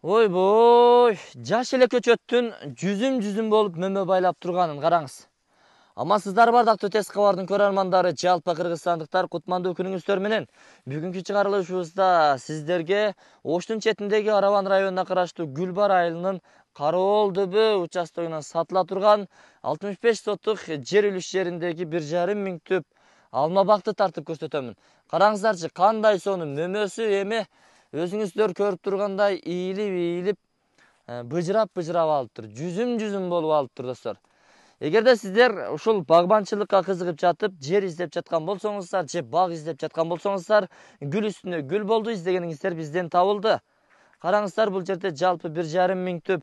Ойбой, жаш эле көчөттүн жүзүм болуп мөмө байлап турганын караңыз. Амансыздар бардактуу Тез кабардын көрөрмандары, жалпы кыргызстандыктар, кутмандуу күнүңүздөр менен. Бүгүнкү чыгарылышыбызда сиздерге Оштун четиндеги Араван районуна караштуу Гүлбар айылынын Кароол дөбө участогунан сатыла турган 65 соттук жер үлүш жериндеги 1,5 миң түп алма бакты тартып көрсөтөмүн. Караңыздарчы, кандай сонун мөмөсү эми өзүңүздөр көрүп тургандай ийилип быжырап алыптыр. Жүзүм болуп алыптыр достор. Эгерде сиздер ушул багбанчылыкка кызыгып жатып, жер издеп жаткан болсоңуздар, же бак издеп жаткан болсоңуздар, гүл үстүнө гүл болду издегениңиздер бизден табылды. Караңыздар, бул жерде жалпы 1,5 миң түп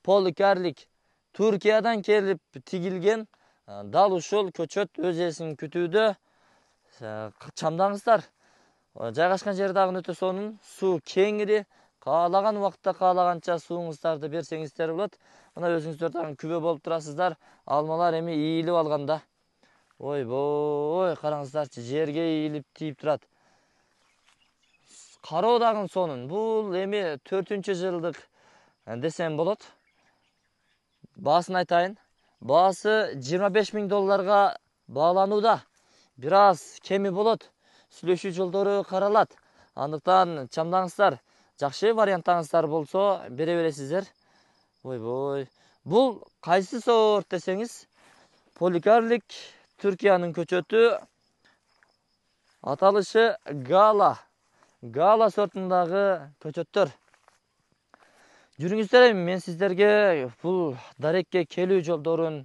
поликарлик Туркиядан келип тигилген дал ушул көчөт өз ээсин күтүүдө. Чамдаңыздар. Жайгашкан жери дагы өтө сонун, суу кеңири, каалаган убакытта каалаганча сууңуздарды берсеңиздер болот. Мына өзүңүздөр дагы күбө болуп турасыздар. Алмалар эми ийилип алганда. Ойбой, караңыздарчы, жерге ийилип тийип турат. Кароо дагы сонун. Бул эми 4-жылдык десем болот. Баасын айтайын. Баасы $25 миң бааланууда. Бир аз кеми болот. Сүйлөшүү жолдору каралат. Андыктан чамдаңыздар. Жакшы варианттарыңыздар болсо бере бересиздер. Ойбой. Бул кайсы сорт десеңиз, поликарлик Түркиянын көчөтү, аталышы Гала. Гала сортундагы көчөттөр. Жүрүңүздөр, эми мен сиздерге бул дарекке келүү жолдорун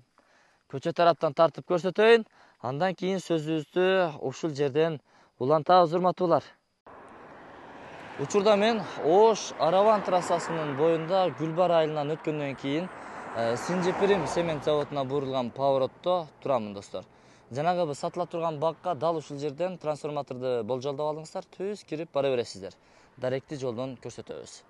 көчөт тараптан тартып көрсөтөйүн. Андан кийин сөзүбүздү ушул жерден улантабыз, урматтуулар. Учурда мен Ош Араван трассасынын боюнда Гүлбар айылынан өткөндөн кийин Синжипирим цемент заводуна бурулган поворотто турамын достор. Жанагы сатыла турган бакка дал ушул жерден трансформаторду болжолдоп алыңыздар, түз кирип бара бересиздер. Даректи жолдон көрсөтөбүз.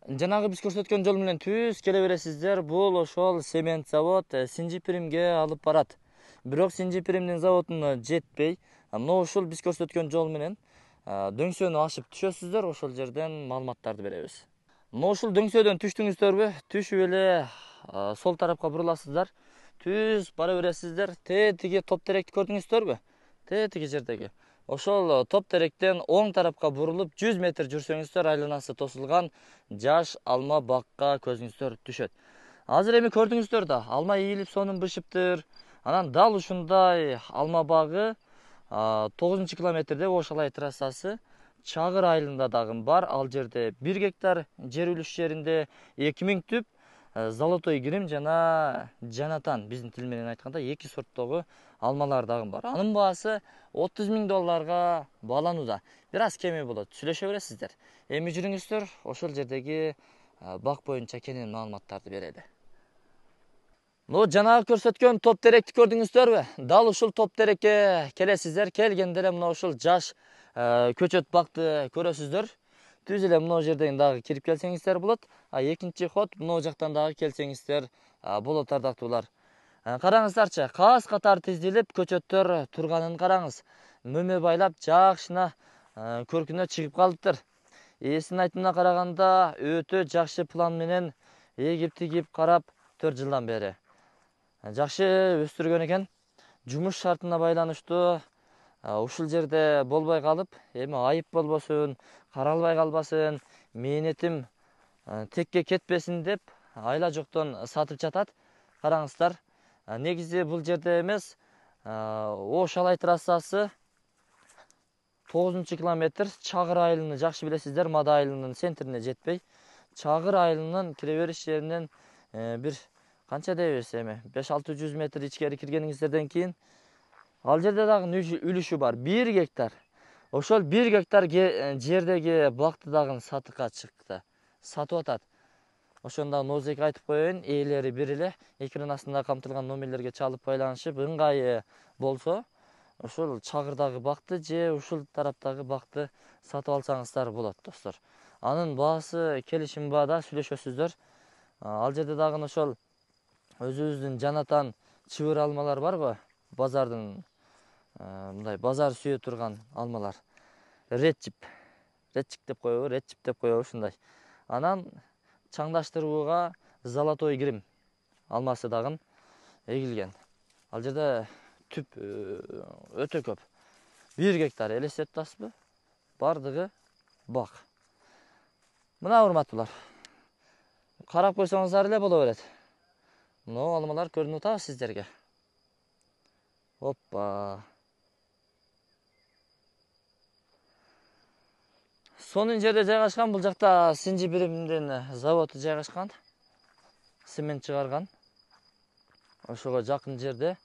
Жанагы биз көрсөткөн жол менен түз келе бересиздер. Бул ошол цемент завод Синжипиримге алып барат. Бирок Синжипиримдин заводуна жетпей, мына ушул биз көрсөткөн жол менен дөңсөнү ашып түшөсүздөр, ошол жерден маалыматтарды беребиз. Мына ушул дөңсөдөн түштүңүздөрбү? Түшүп эле сол тарапка буруласыздар. Түз бара бересиздер. Тиги топ теректи көрдүңүздөрбү? Тиги жердеги. Ошол топ теректен оң тарапка бурулуп 100 метр жүрсөңүздөр, айланасы тосулган жаш алма бакка көзүңүздөр түшөт. Азыр эми көрдүңүздөр да, алма ийилип сонун бышыптыр. Анан дал ушундай алма багы 9-километрде Ошалай трассасы Чагыр айылында дагы бар. Ал жерде 1 гектар жер үлүш жеринде 2000 түп Золотой Грим жана Жанатан, биздин тил менен айтканда 2 сорттогу алмалар дагы бар. Анын баасы $30 миң бааланууда. Бир аз кеми болот, сүйлөшө бересиздер. Эми жүрүңүздөр, ошол жердеги бак боюнча кенен маалыматтарды берели. Ну, жанагы көрсөткөн топ теректи көрдүңүздөрбү? Дал ушул топ терекке келесиздер. Келгенде эле мына ушул жаш көчөт бакты көрөсүздөр. Түз эле мына жерден дагы кирип келсеңиздер болот. Экинчи ход мына жактан дагы келсеңиздер болот, ардактуулар. Караңыздарчы, каас катар тизилип көчөттөр турганын караңыз. Мөмө байлап жакшына көркүнө чыгып калыптыр. Ээсинин айтымына караганда өтө жакшы план менен эгип тигип карап 4 жылдан бери жакшы өстүргөн экен. Жумуш шартына байланыштуу ушул жерде болбой калып, эми айып болбосун, каралбай калбасын, мээнетим текке кетпесин деп айла жоктон сатып жатат. Караңыздар, негизи бул жерде эмес, Ошалай трассасы 9-километр Чагыр айылын жакшы билесиздер, Мада айылынын центрине жетпей, Чагыр айылынын кире бериш жеринен бир канча дейбиз эми 500-600 метр ичкери киргениңиздерден кийин ал жерде дагы үлүшү бар, 1 гектар. Ошол 1 гектар жердеги бакты дагы сатыкка чыкты, сатып атат. Ошондо нозек айтып коеюн, ээлери бир эле, экран астында камтылган номерлерге чалып байланышып, ыңгайы болсо, ошол Чагырдагы бакты же ушул тараптагы бакты сатып алсаңыздар болот, достор. Анын баасы келишим баада, сүйлөшөсүздөр. Ал жерде дагы ошол өзүбүздүн Жанатан чыбыр алмалар барбы? Базардын мындай базар сүйө турган алмалар. Редчип деп коебу, ушундай. Анан чаңдаштырууга Золотой Грим алмасы дагы эгилген. Ал жерде түп өтө көп. 1 гектар элестетип атасызбы? Бардыгы бак. Мына урматтуулар. Карап койсоңуздар эле боло берет. Мына алмалар көрүнүп атабы сиздерге? Оппа. Сонун жерде жайгашкан, бул жакта Синжипиримдин заводу жайгашкан. Цемент чыгарган. Ошого жакын жерде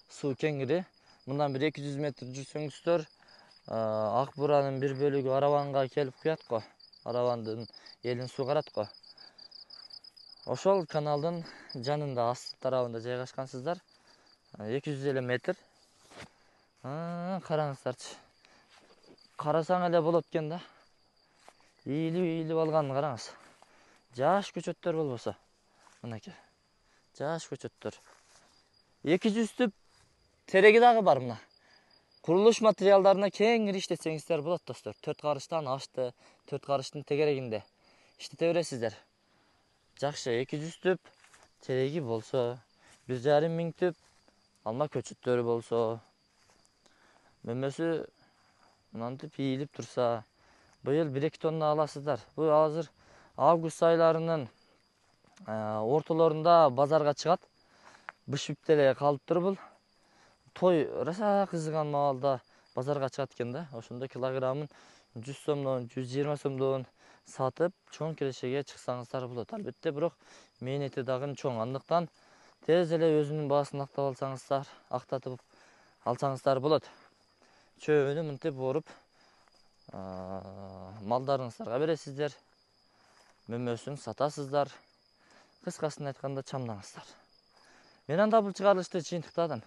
суу кеңири. Мындан бир 200 метр жүрсөңүздөр, Ак Буранын бир бөлүгү Араванга келип куят го. Аравандын элин суугарат го. Ошол каналдын жанында, астык тарабында жайгашкансыздар. 250 метр. Караңыздарчы. Карасаң эле болот экен да. Ийилип алган караңыз. Жаш көчөттөр болбосо. Мынакей. Жаш көчөттөр. 200 түп тереги дагы бар мына. Курулуш материалдарына кеңири иштетсеңиздер болот достор. 4 карыштан ашты, 4 карыштын тегерегинде иштете бересиздер. Жакшы, 200 түп тереги болсо, 1,5 миң түп алма көчөттөрү болсо, мөмөсү мынантип ийилип турса, быйыл 1-2 тонна аласыздар. Бул азыр август айларынын ортолорунда базарга чыгат. Бышып деле калыптыр бул. Той раса кызыган маалда базарга чыгат экен да. Ошондо килограммын 100 сомдон, 120 сомдон сатып, чоң кирешеге чыксаңыздар болот. Албетте, бирок мээнети дагы чоң. Андыктан тез эле өзүнүн баасын актатып алсаңыздар болот. Чөбүнү мынтип оруп малдарыңыздарга бересиздер. Мөмөсүн сатасыздар. Кыскасын айтканда чамдаңыздар. Мен анда бул чыгарылышты жыйынтыктадым.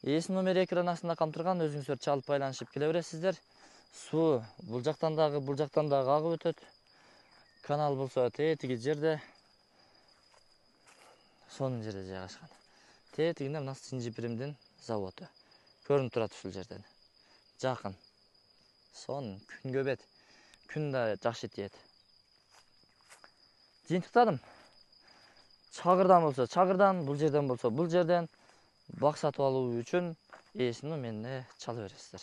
Ээси номери экран астында камтырган, өзүңүздөр чалып байланышып келе бересиздер. Суу бул жактан дагы агып өтөт. Канал болсо тетиги жерде. Сонун жерде жайгашкан. Тетигинде мына Синжипиримдин заводу. Көрүнүп турат ушул жерден. Жакын. Сонун күнгө бет. Күн да жакшы тиет. Жыйынтыктадым. Чагырдан болсо чагырдан, бул жерден болсо бул жерден бак сатып алуу үчүн ээси номерине чала бересиздер.